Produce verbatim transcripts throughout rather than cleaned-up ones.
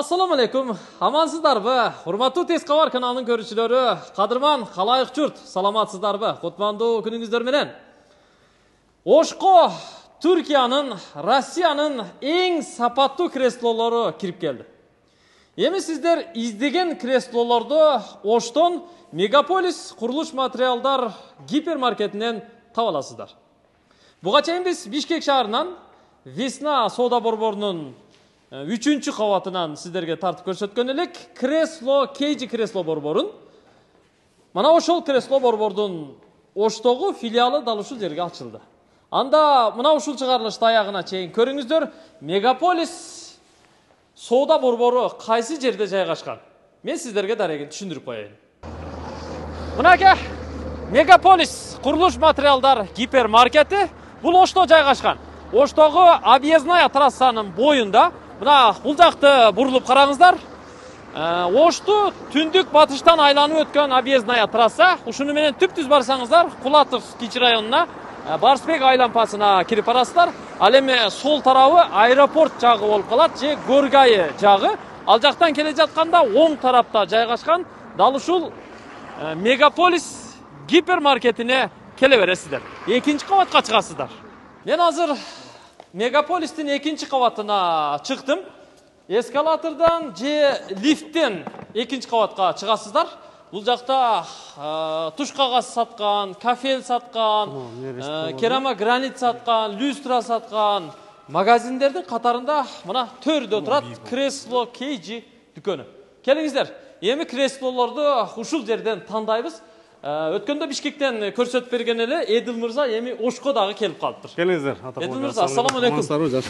Assalamu alaikum. Amansızdarбы? Урматтуу Тез кабар каналынын көрүүчүлөрү, кадырман калайык журт, саламатсыздарбы? Кутмандуу күнүңүздөр менен. Ошко Түркиянын, Россиянын эң сапаттуу креслолору кирип келди. Эми сиздер издеген креслолорду Оштон Мегаполис курулуш материалдар гипермаркетинен таба аласыздар. Буга чейин биз Бишкек шаарынан Весна соода борборунун үчүнчү кабатынан сиздерге тартып көрсөткөн элек кресло Кейджи кресло борборун. Мана ошол кресло борбордун Оштогу филиалы дал ушул жерге ачылды. Анда мына ушул чыгарылышты аягына чейин көрүңүздөр. Мегаполис соода борбору кайсы жерде жайгашкан? Мен сиздерге дарегин түшүндүрүп коеюн. Мынаке Мегаполис курулуш материалдар гипермаркети бул Ошто жайгашкан. Оштогу объездная трассанын боюнда. Мына бул жакты бурулуп караңыздар. Ошту түндүк батыштан айланып өткөн объездная трасса. Ушуну менен түп-түз барсаңыздар, Кулатов кичи районуна, Барсбек айлампасына кирип барасыздар. Ал эми сол тарабы аэропорт жагы болуп калат, же Горгайы жагы. Ал жактан келе жатканда оң тарапта жайгашкан дал ушул Мегаполис гипермаркетине келе бересиздер. Экинчи кабатка чыгасыздар. Мен азыр Мегаполистин экинчи кабатына чыктым. Эскалатордан же лифттен экинчи кабатка чыгасыздар. Бул жакта туш кагаз саткан, кафел саткан, керамогранит саткан, люстра саткан магазиндердин катарында мына төрдө турат кресло Кейджи дүкөнү. Келиңиздер, эми креслолорду ушул жерден тандайбыз. Өткөндө Бишкектен көрсөтүп берген эле Эдил мырза эми Ошко дагы келип калыптыр. Келиңиздер. Эдил мырза, ассаламу алейкум.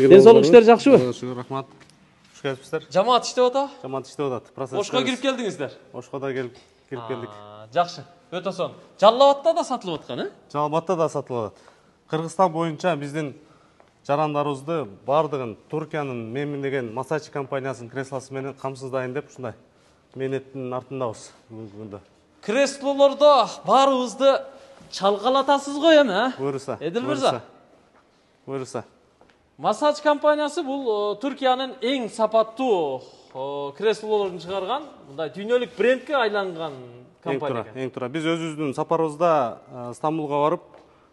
Ден соолук иштер жакшыбы? Рахмат. Куш келипсиздер? Жамаат иштеп атабы? Жамаат иштеп атат. Ошко кирип келдиңиздер? Ошко да келип кирип келдик. Жакшы. Өтө сонун. Жалал Абадта да сатылып аткан, э? Жалал Абадта да сатылып атат. Кыргызстан боюнча биздин жарандарыбызды бардыгын Туркиянын мемилеген Масачи компаниясынын креслосы менен камсыздайын деп ушундай мээнеттин артындабыз бүгүнкү күндө. Креслолордо баарыбызды чалкалатасыз го эми, э? Буюрса. Эдил мырза. Буюрса. Масач компаниясы бул Түркиянын эң сапаттуу креслолорун чыгарган, мындай дүйнөлүк брендке айланган компания. Эң туура. Биз өзүбүздүн сапарыбызда Стамбулга барып,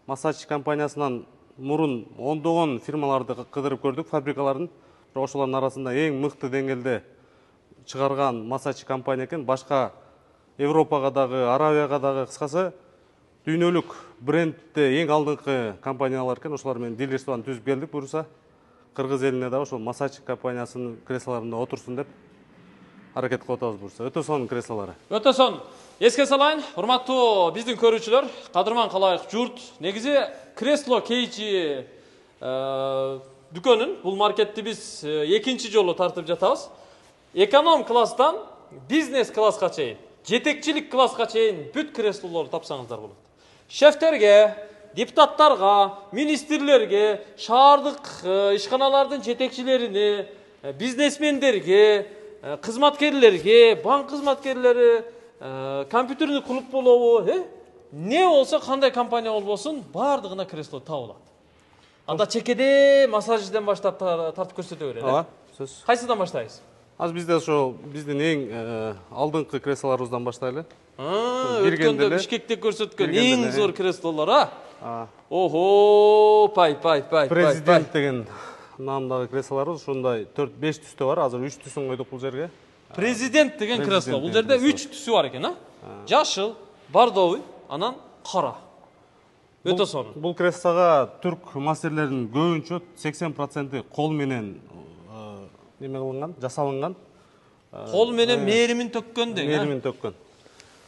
Масач компаниясынан мурун ондогон фирмаларды кыдырып көрдүк, фабрикаларын. Бирок ошолордун арасында эң мыкты деңгээлде чыгарган Масач компания экен. Башка Европага дагы, Аравияга дагы, кыскасы дүйнөлүк брендте эң алдыңкы компаниялар экен. Ошолар менен дилерствону түзүп келдик. Буюрса кыргыз элине дагы ошол Масач компаниясынын креслолорунда отурсун деп аракет кылып атабыз. Буюрса өтө сонун креслолору. Өтө сонун. Эске салайын, урматтуу биздин көрүүчүлөр, кадырман калайык журт. Негизи кресло Кейджи дүкөнүн бул маркетти биз экинчи жолу тартып жатабыз. Эконом класстан бизнес класска чейин, жетекчилик класска чейин бүт креслолорду тапсаңыздар болот. Шефтерге, депутаттарга, министрлерге, шаардык ишканалардын жетекчилерине, бизнесмендерге, кызматкерлерге, банк кызматкерлери, компьютерный клуб болобу, э? Не болсо, кандай компания болбосун, бардыгына кресло табылат. Анда чекеде массажден баштап тартып көрсөтө берели. Ооба, сөз. Кайсыдан баштайбыз? Азыр бизде ошо биздин эң алдыңкы креслолорубуздан баштайлы. Өткөндө Бишкекте көрсөткөн эң зор креслолор, а? Ого, пай, пай, пай. Президент деген наамдагы креслолорубуз ушундай төрт беш түстө бар. Азыр үч түсүн койдук бул жерге. Президент деген кресло. Бул жерде үч түсү бар экен, а? Жашыл, бордовый, анан кара. Өтө сонун. Бул креслога түрк мастерлеринин көбүнчө сексен проценти кол менен неме кылынган, жасалынган. Кол менен мээримин төккөн деген. Мээримин төккөн.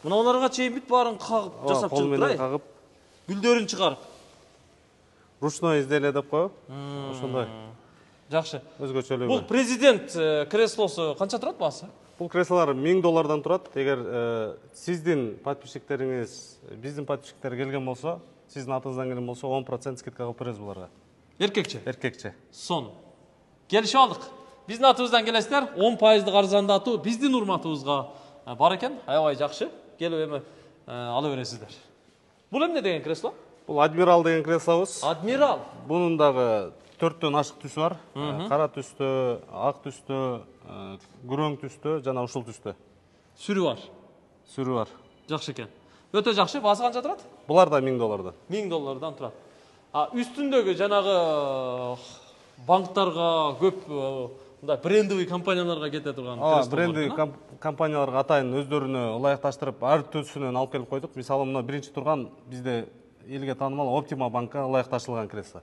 Мына аларга чейин бүт баарын кагып жасап чыгып турай. Кол менен кагып, гүлдөрүн чыгарып. Ручной изделие деп коебу. Ошондой. Жакшы. Өзгөчөлүгү. Бул президент креслосу канча турат баасы? Бул креслолор миң доллардан турат. Эгер сиздин подписчиктериңиз, биздин подписчиктер келген болсо, сиздин атыңыздан келген болсо он процент скидка кылып беребиз буларга. Эркекче? Эркекче. Сонун. Келишип алдык. Биздин атыбыздан келесиздер, он пайыздык арзандатуу биздин урматыбызга бар экен. Аябай жакшы. Келип эми ала бересиздер. Бул эмне деген кресло? Бул Адмирал деген креслобуз. Адмирал. Бунун дагы төрттөн ашык түсү бар. Кара түстө, ак түстө, күрөң түстө жана ушул түстө. Сүрү бар. Сүрү бар. Жакшы экен. Өтө жакшы. Баасы канча турат? Булар да миң доллардан. миң доллардан турат. А үстүндөгү жанагы банктарга көп мындай брендовый компанияларга кете турган креслолор. Брендовый компанияларга атайын өздөрүнө ылайыкташтырып, ар төсүнөн алып келип койдук. Мисалы, мына биринчи турган бизде элге таанымал Optima банкка ылайыкташтырылган кресло.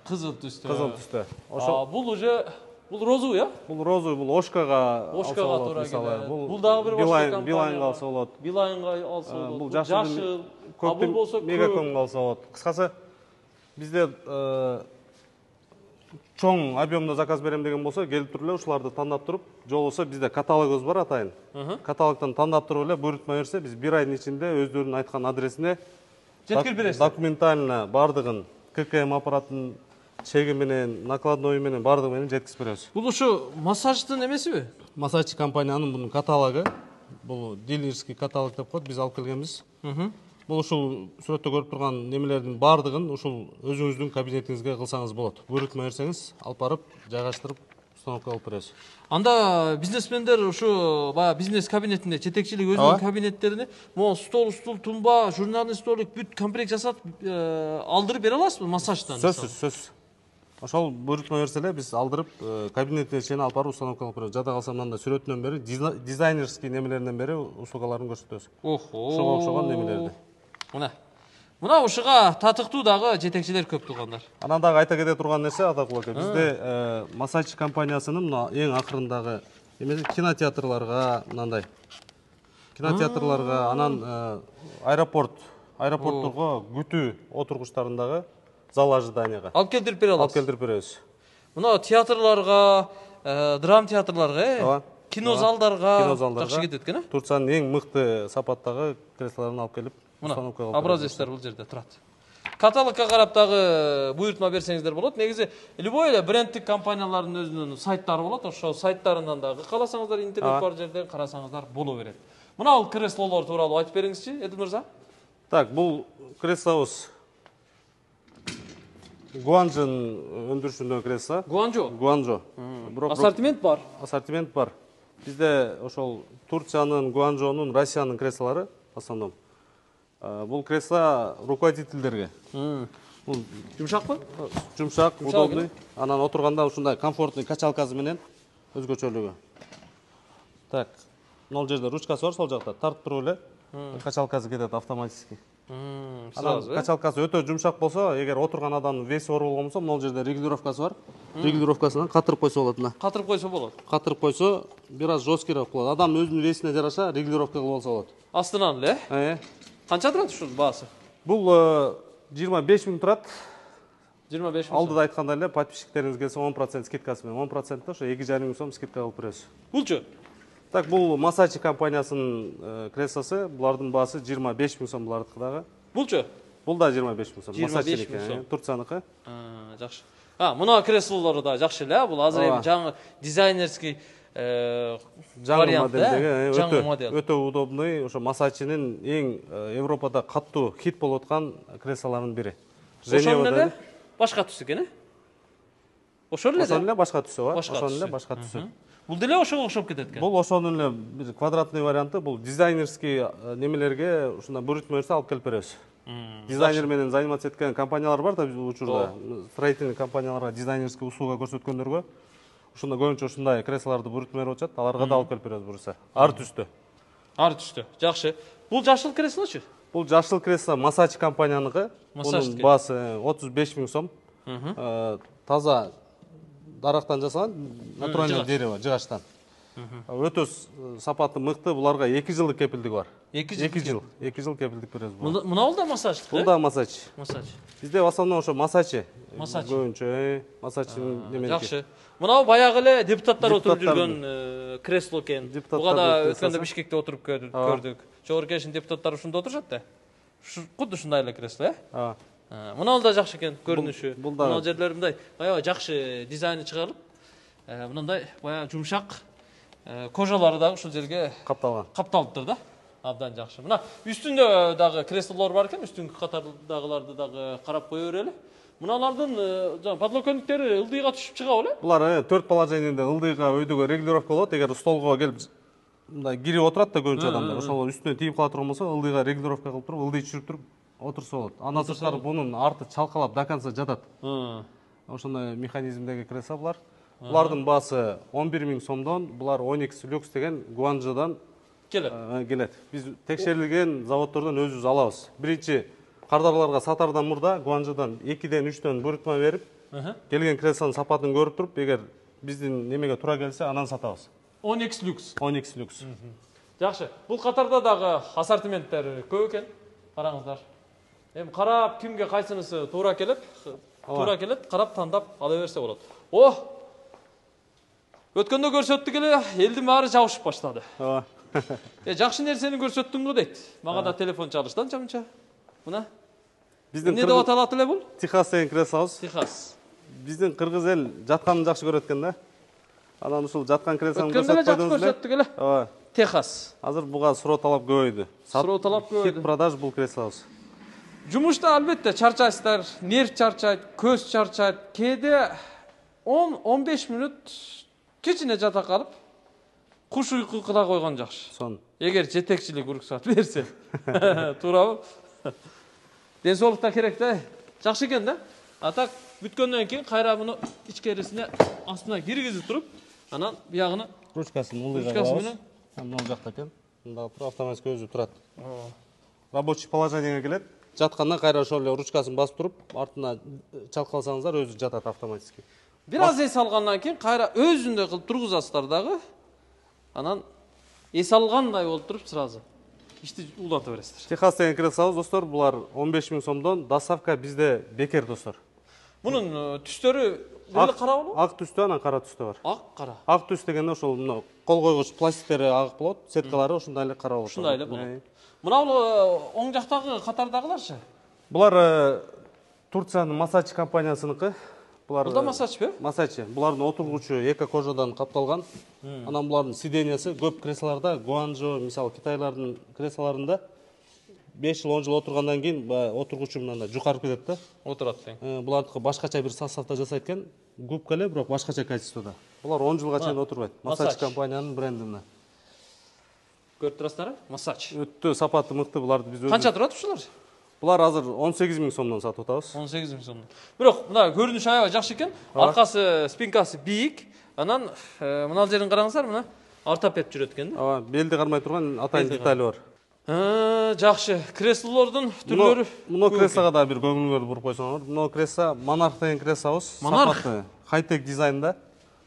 Кызыл түстө. Кызыл түстө. Ошо бул уже бул розовый, а? Бул розовый, бул Ошкага Ошкага туура келет. Бул дагы бир башка компания. Билайнга алса болот. Билайнга алса болот. Бул жашыл, а бул болсо мегакомго алса болот. Кыскасы бизде чоң объемдо заказ берем деген болсо, келип туруп эле ушуларды тандап туруп, же болбосо бизде каталогубуз бар атайын. Каталогтон тандап туруп эле буйрутма берсе, биз бир айдын ичинде өздөрүнүн айткан адресине жеткирип бересиз. Документально бардыгын, ККМ аппаратын чеги менен, накладной менен бардыгы менен жеткирип беребиз. Бул ушу массаждын эмесиби? Массажчы компаниянын бунун каталогу. Бул дилерский каталог деп коет, биз алып келгенбиз. Бул ушул сүрөттө көрүп турган немелердин бардыгын ушул өзүңүздүн кабинетиңизге кылсаңыз болот. Буйрутма берсеңиз, алып барып, жайгаштырып, установка кылып беребиз. Анда бизнесмендер ушу баягы бизнес кабинетинде жетекчилик өзүнүн кабинеттерине могу стол, стул, тумба, журнальный столик бүт комплект жасатып алдырып бере аласызбы массаждан? Сөзсүз, сөзсүз. Ошол буйрутма берсе эле биз алдырып кабинетине чейин алып барып установка кылып беребиз. Жада калса мындай сүрөтүнөн бери дизайнерский немелеринен бери услугаларын көрсөтөбүз. Охо. Ошого окшогон немелерди. Мына. Мына ушуга татыктуу дагы жетекчилер көп тургандар. Анан дагы айта кете турган нерсе, Атакул ака, бизде массажчы компаниясынын мына эң акырындагы эмеси кинотеатрларга, мындай кинотеатрларга, анан аэропорт, аэропортторго күтүү отургучтарындагы зал ожиданияга алып келтирип бере аласыз. Алып келтирип беребиз. Мына театрларга, драм театрларга, кино залдарга жакшы кетет экен, э? Турциянын эң мыкты сапаттагы креслолорун алып келип установка кылып. Образецтер бул жерде турат. Каталогко карап дагы буйрутма берсеңиздер болот. Негизи любой эле брендтик компаниялардын өзүнүн сайттары болот. Ошо сайттарынан дагы кааласаңыздар интернет бар жерден карасаңыздар боло берет. Мына бул креслолор тууралуу айтып бериңизчи, Эдил мырза. Так, бул креслобуз Гуанчжын өндүрүшүндөгү кресло. Гуанчжо. Гуанчжо. Ассортимент бар. Ассортимент бар. Бизде ошол Турциянын, Гуанчжонун, Россиянын креслолору в основном. Бул кресло руководительдерге. Бул жумшакпы? Жумшак, удобный. Анан отурганда ушундай комфортный качалкасы менен өзгөчөлүгү. Так, мына жерде ручкасы бар, сол жакта тартып туруп эле качалкасы кетет автоматически. Анан качалкасы өтө жумшак болсо, эгер отурган адамдын веси оор болгон болсо, мына жерде регулировкасы бар. Регулировкасынан катырып койсо болот мына. Катырып койсо болот. Катырып койсо, бир аз жесткиирээк болот. Адам өзүнүн весине жараша регулировка кылып алса болот. Астынан эле? Э. Канча турат ушунун баасы? Бул жыйырма беш миң турат. жыйырма беш миң. Алдыда айткандай эле подписчиктериңиз келсе он процент скидкасы менен он процент ошо эки жарым миң сом скидка кылып беребиз. Булчу? Так, бул массажчы компаниясынын креслосы, булардын баасы жыйырма беш миң сом булардыкы дагы. Булчу? Бул да жыйырма беш миң сом. жыйырма беш миң сом. Турцияныкы. А, жакшы. А, мына креслолору да жакшы эле, бул азыр эми жаңы дизайнерский жаңы модельдеги, өтө өтө удобный, ошо массажчынын эң Европада каттуу хит болуп аткан креслолорунун бири. Ошол эле башка түс экен, э? Ошол эле. Ошол эле башка түсү бар. Ошол эле башка түсү. Бул деле ошого окшоп кетет экен. Бул ошонун эле бир квадратный варианты, бул дизайнерский немелерге ушундай буйрутма берсе алып келип беребиз. Дизайнер менен заниматься эткен компаниялар бар да бул учурда. Строительный компанияларга дизайнерский услуга көрсөткөндөргө ушундай көбүнчө ушундай креслолорду буйрутма берип атышат. Аларга да алып келип беребиз буюрса. Ар түстө. Ар түстө. Жакшы. Бул жашыл креслочу? Бул жашыл кресло массаж компанияныкы. Мунун баасы отуз беш миң сом. Таза дарактан жасалган, натуральный дерево, жыгачтан. Өтө сапаты мыкты, буларга эки жылдык кепилдиги бар. эки жыл, эки жыл кепилдик беребиз бул. Мына бул да массаждык, э? Бул да массаж. Массаж. Бизде в основном ошо массажчы. Массаж. Көбүнчө массажчынын немеси. Жакшы. Мына баягы эле депутаттар отуруп жүргөн кресло экен. Буга да өткөндө Бишкекте отуруп көрдүк. Жогорку Кеңештин депутаттары ушунда отурушат да. Кудду ушундай эле кресло, э? Ооба. Мына да жакшы экен көрүнүшү. Мына жерлери мындай баягы жакшы дизайны чыгарылып, мындай баягы жумшак кожалары дагы ушул жерге капталган. Капталыптыр да. Абдан жакшы. Мына үстүндө дагы креслолор бар экен, үстүнкү катардагыларды дагы карап кое берели. Мыналардын жана подлокотниктери ылдыйга түшүп чыга беле? Булар төрт положениеде ылдыйга өйдөгө регулировка болот. Эгер столго келип мындай кирип отурат да көбүнчө адамдар, ошол үстүнө тийип кала турган болсо, ылдыйга регулировка кылып туруп, ылдый түшүрүп туруп отурса болот. Андан сырткары бунун арты чалкалап до конца жатат. Ошондой механизмдеги кресло булар. Булардын баасы он бир миң сомдон, булар Onyx Lux деген Гуанчжодан келет. Келет. Биз текшерилген заводдордон өзүбүз алабыз. Биринчи кардарларга сатардан мурда Гуанчжодан экиден үчтөн буйрутма берип, келген креслонун сапатын көрүп туруп, эгер биздин немеге туура келсе, анан сатабыз. Onyx Lux. Onyx Lux. Жакшы. Бул катарда дагы ассортименттер көп экен. Караңыздар. Эми карап кимге кайсынысы туура келет, туура келет, карап тандап ала берсе болот. О! Өткөндө көрсөттүк эле, элдин баары жабышып баштады. Ооба. Э, жакшы нерсени көрсөттүңбү дейт. Мага да телефон чалышты анча-мынча. Мына. Биздин эмне деп аталат эле бул? Техас деген креслобуз. Техас. Биздин кыргыз эл жатканын жакшы көрөт экен да. Анан ушул жаткан креслону көрсөтүп койдуңуз. Өткөндө жакшы көрсөттүк эле. Ооба. Техас. Азыр буга суроо талап көбөйдү. Суроо талап көбөйдү. Хит продаж бул креслобуз. Жумушта албетте чарчайсыздар, нерв чарчайт, көз чарчайт. Кээде он он беш мүнөт кичине жата калып, куш уйку кыла койгон жакшы. Сон. Эгер жетекчилик уруксат берсе. Туурабы? Ден соолукта керек да. Жакшы экен да. А так бүткөндөн кийин кайра муну ичкерисине астына киргизип туруп, анан биягына ручкасын ылдыйга ручкасы менен мына жакта экен. Мында туруп автоматик өзү турат. Рабочий положениеге келет. Жаткандан кайра ошол эле ручкасын басып туруп, артына чалкаласаңыздар өзү жатат автоматически. Бир аз эс алгандан кийин кайра өзүндөй кылып тургузасыздар дагы. Анан эс алгандай болуп туруп сразу ишти улата бересиздер. Техас деген креслобуз достор, булар он беш миң сомдон, доставка бизде бекер достор. Мунун түстөрү эле кара болобу? Ак түстө, анан кара түстө бар. Ак, кара. Ак түс дегенде ошол мына кол койгуч пластиктери ак болот, сеткалары ошондой эле кара болот. Ушундай эле болот. Мына бул оң жактагы катардагыларчы? Булар Турциянын Massage компаниясыныкы. Булар Бул да Massage бе? Massage. Булардын отургучу эко кожадан капталган. Анан булардын сидениясы көп креслолордо, Гуанчжо, мисалы Китайлардын креслолорунда беш жыл он жыл отургандан кийин отургучу мындай жукарып кетет да. Отурат тең. Булардыкы башкача бир составда жасайт экен. Губка эле, бирок башкача качествода. Булар он жылга чейин отурбайт. Massage компаниянын бренди мына. Көрүп турасыздар? Massage. Өтө сапаты мыкты, буларды биз өзүбүз. Канча турат ушулар? Булар азыр он сегиз миң сомдон сатып атабыз. он сегиз миң сомдон. Бирок мына көрүнүш аябай жакшы экен. Аркасы, спинкасы бийик. Анан мына жерин караңыздар, мына ортопед жүрөт экен да. Ооба, белди кармай турган атайын детали бар. Жакшы. Креслолордун түрлөрү. Муну креслого да бир көңүлүңөрдү буруп койсоңор. Муну кресло Monarch деген креслобуз. Сапаты, хай-тек дизайнда.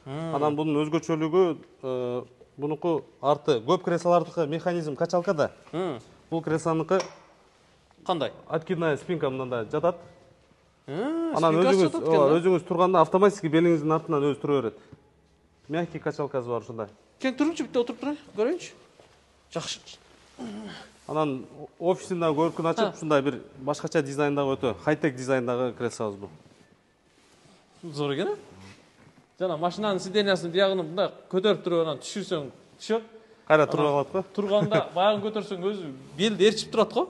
Анан бунун өзгөчөлүгү бунуку арты көп креслолордукы механизм качалкада. Бул креслонуку кандай? Откидная спинка мындай жатат. Анан өзүңүз, өзүңүз турганда автоматически белиңиздин артынан өзү тура берет. Мягкий качалкасы бар ушундай. Кең турунчу, битте отуруп турайын, көрөйүнчү. Жакшы. Анан офисинде көркүн ачып, ушундай бир башкача дизайндагы өтө хай-тек дизайндагы креслобуз бул. Зор экен, а? Жана машинанын сидениясын биягын мындай көтөрүп туруп анан түшүрсөң, түшөт. Кайра туруп алат го? Турганда баягын көтөрсөң өзү белди эрчип турат го?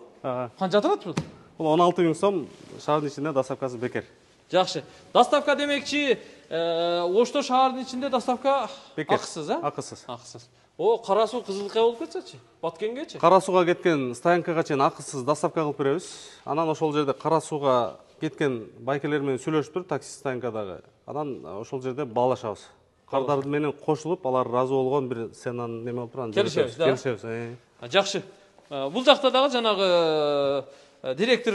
Канча турат бул? Бул он алты миң сом, шаардын ичинде доставкасы бекер. Жакшы. Доставка демекчи, Ошто шаардын ичинде доставка акысыз, а? Акысыз. Акысыз. О, кара суу Кызылкая болуп кетсечи? Баткенгечи? Кара сууга кеткен стоянкага чейин акысыз доставка кылып беребиз. Анан ошол жерде кара сууга кеткен байкелер менен сүйлөшүп туруп, такси стоянкадагы. Анан ошол жерде баалашабыз. Кардар менен кошулуп, алар разы болгон бир ценаны неме болуп турган. Келишебиз, да? Келишебиз. Жакшы. Бул жакта дагы жанагы директор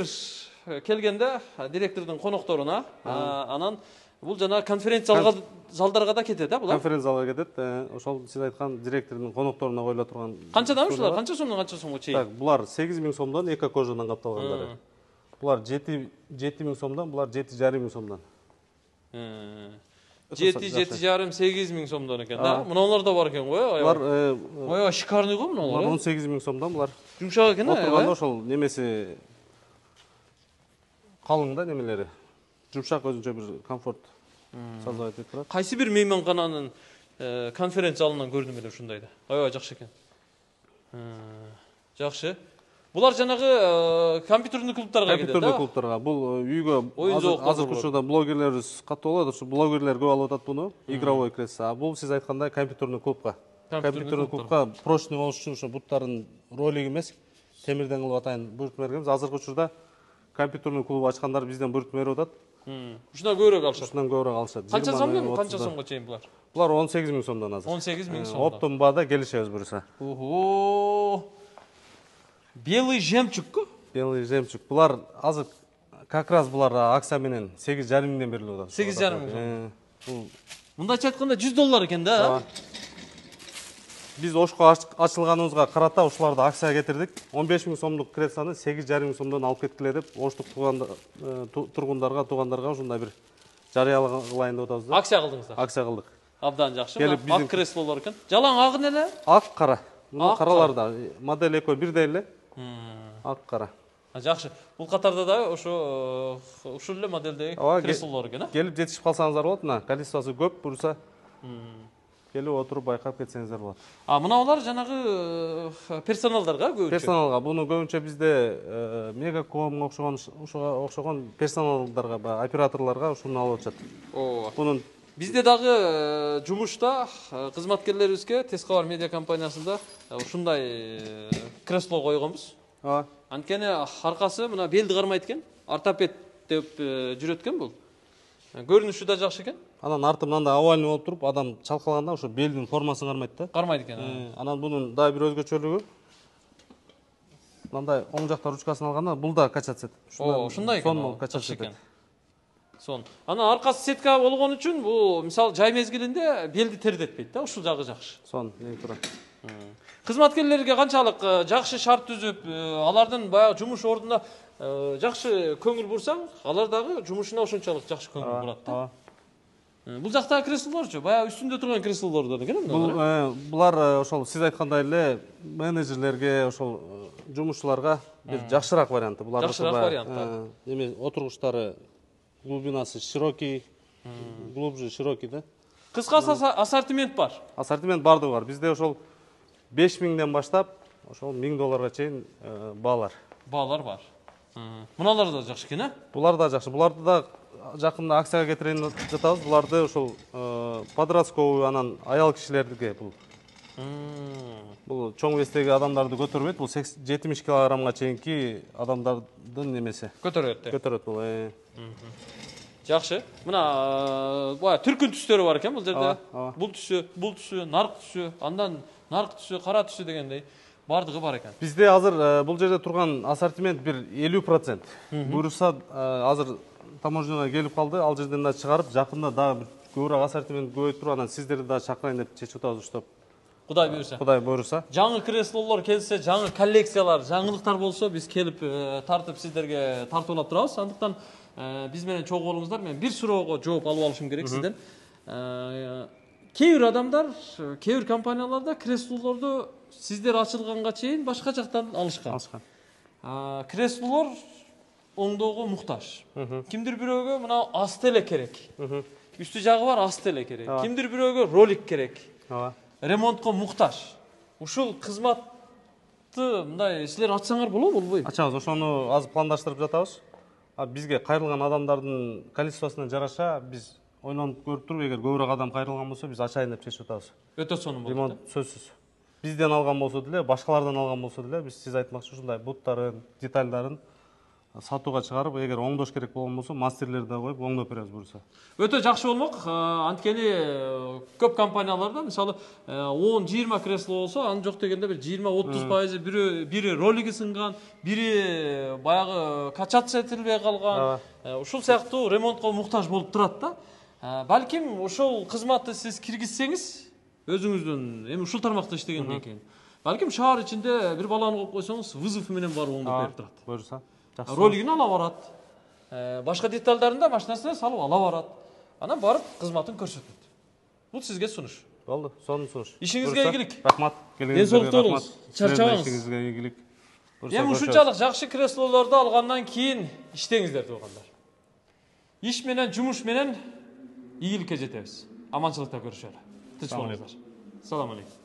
келгенде, директордун конокторуна, анан бул жана конференция залдарга да кетет, а булар? Конференция залга кетет. Ошол сиз айткан директордун конокторуна коюла турган. Канчадан ушулар? Канча сомдон канча сомго чейин? Так, булар сегиз миң сомдон эко кожадан капталгандары. Булар жети миң сомдон, булар жети жарым миң сомдон. жети, жети жарым, сегиз миң сомдон экен да. Мыналар да бар экен го, аябай. Булар аябай шикарный го мыналар. Булар он сегиз миң сомдон, булар. Жумшак экен, аябай. Отурганда ошол немеси калың да немелери. Жумшак өзүнчө бир комфорт создавать этип турат. Кайсы бир мейманкананын конференция залынан көрдүм эле ушундайды. Аябай жакшы экен. Жакшы. Булар жанагы компьютерный клубтарга кетет, компьютерный клубтарга. Бул үйгө азыркы учурда блогерлерибиз катуу болот. Ушу блогерлер көп алып атат буну. Игровой кресло. А бул сиз айткандай компьютерный клубка. Компьютерный клубка прочный болуш үчүн ошо буттарын ролик эмес, темирден кылып атайын буйрутма бергенбиз. Азыркы учурда компьютерный клуб ачкандар бизден буйрутма берип атат. Ушундан көбүрөөк алышат. Ушундан көбүрөөк алышат. Канча сомдон, канча сомго чейин булар? Булар он сегиз миң сомдон азыр. он сегиз миң сомдон. Оптом баада келишебиз буюрса. Ого! Белый жемчугку? Белый жемчуг. Булар азыр как раз булар акция менен сегиз жарым миңден берилип атат. сегиз жарым миң. Бул Мындайча айтканда жүз доллар экен да. Биз Ошко ачылганыбызга карата ушуларды акцияга кетирдик. он беш миң сомдук креслону сегиз жарым миң сомдон алып кеткиле деп Оштук тургундарга, туугандарга ушундай бир жарыялайын деп атабыз да. Акция кылдыңыздар. Акция кылдык. Абдан жакшы. Ак креслолор экен. Жалаң агы эле? Ак кара. Мына караларда модель экөө бирдей эле. Ак кара. Жакшы. Бул катарда да ошо ушул эле модельдеги креслолор экен, а? Келип жетишип калсаңыздар болот. Мына количествосу көп, буюрса келип отуруп байкап кетсеңиздер болот. А мыналар жанагы персоналдарга көбүнчө? Персоналга. Буну көбүнчө бизде Мегаком окшогон ушуга окшогон персоналдарга, операторлорго ушуну алып атышат. Ооба. Бунун Бизде дагы жумушта кызматкерлерибизге Тез кабар медиа компаниясында ушундай кресло койгонбуз. Ооба. Анткени аркасы мына белди кармайт экен. Ортопед деп жүрөт экен бул. Көрүнүшү да жакшы экен. Анан арты мындай овальный болуп туруп, адам чалкалаганда ошо белдин формасын кармайт да. Кармайт экен. Анан бунун дагы бир өзгөчөлүгү мындай оң жакта ручкасын алганда бул да качаться этет. Ушундай экен. Сон качаться этет. Сон. Анан аркасы сетка болгон үчүн бул мисалы жай мезгилинде белди тердетпейт да, ушул жагы жакшы. Сон, эң туура. Кызматкерлерге канчалык жакшы шарт түзүп, алардын баягы жумуш ордуна жакшы көңүл бурсаң, алар дагы жумушуна ошончолук жакшы көңүл бурат да. Бул жактагы креслолорчу, баягы үстүндө турган креслолордон экен Бул булар ошол сиз айткандай эле менеджерлерге, ошол жумушчуларга бир жакшыраак варианты. Булар жакшыраак вариант. Эме отургучтары глубинасы широкий, глубже широкий да. Кыскасы ассортимент бар. Ассортимент бардыгы бар. Бизде ошол беш миңден баштап ошол миң долларга чейин баалар. Баалар бар. Муналар да жакшы экен, а? Булар да жакшы. Буларды да жакында акцияга кетирейин деп жатабыз. Буларды ошол подростковый анан аял кишилерге бул. Бул чоң вестеги адамдарды көтөрбөйт. Бул жетимиш килограммга чейинки адамдардын немеси. Көтөрөт. Көтөрөт бул. Жакшы. Мына бая түркүн түстөрү бар экен бул жерде. Бул түсү, бул түсү, нарк түсү, андан нарк түсү, кара түсү дегендей бардыгы бар экен. Бизде азыр бул жерде турган ассортимент бир элүү процент. Буюрса азыр таможняга келип калды, ал жерден да чыгарып, жакында дагы көбүрөөк ассортимент көбөйтүп, анан сиздерди да чакырайын деп чечип атабыз уштап. Кудай буйрса. Кудай буйрса. Жаңы креслолор келсе, жаңы коллекциялар, жаңылыктар болсо, биз келип тартып сиздерге тартуулап турабыз. Андыктан биз менен чогуу болуңуздар. Мен бир суроого жооп алып алышым керек сизден. Кээ бир адамдар, кээ бир компанияларда креслолорду сиздер ачылганга чейин башка жактан алышкан. Алышкан. Креслолор оңдоого муктаж. Кимдир бирөөгө мына асты эле керек. Үстү жагы бар, асты эле керек. Кимдир бирөөгө ролик керек. Ооба. Ремонтко муктаж. Ушул кызматты мындай силер ачсаңар болобу, болбойбу? Ачабыз, ошону азыр пландаштырып жатабыз. А бизге кайрылган адамдардын количествосуна жараша биз ойлонуп көрүп туруп, эгер көбүрөөк адам кайрылган болсо, биз ачайын деп чечип атабыз. Өтө сонун болот. Ремонт сөзсүз. Бизден алган болсо деле, башкалардан алган болсо деле, биз сиз айтмакчы ушундай буттарын, детальдарын сатууга чыгарып, эгер оңдош керек болгон болсо, мастерлерди да коюп оңдоп беребиз буюрса. Өтө жакшы болмок. Анткени көп компанияларда мисалы он жыйырма кресло болсо, анын жок дегенде бир жыйырма отуз пайызы бири бири ролиги сынган, бири баягы качаться этилбей калган. Ушул сыяктуу ремонтко муктаж болуп турат да. Балким ошол кызматты сиз киргизсеңиз, өзүңүздүн эми ушул тармакта иштегенден кийин, балким шаар ичинде бир баланы коюп койсоңуз, вызов менен барып оңдоп берип турат. Буюрса. Ролигин ала барат. Башка детальдарын да машинасына салып ала барат. Анан барып кызматын көрсөтөт. Бул сизге сунуш. Болду, сонун сунуш. Ишиңизге ийгилик. Рахмат. Ден соолукта болуңуз. Чарчабаңыз. Ишиңизге ийгилик. Эми ушунчалык жакшы креслолорду алгандан кийин иштеңиздер туугандар. Иш менен, жумуш менен ийгиликке жетебиз. Аманчылыкта көрүшөлү. Тынч болуңуздар. Салам алейкум.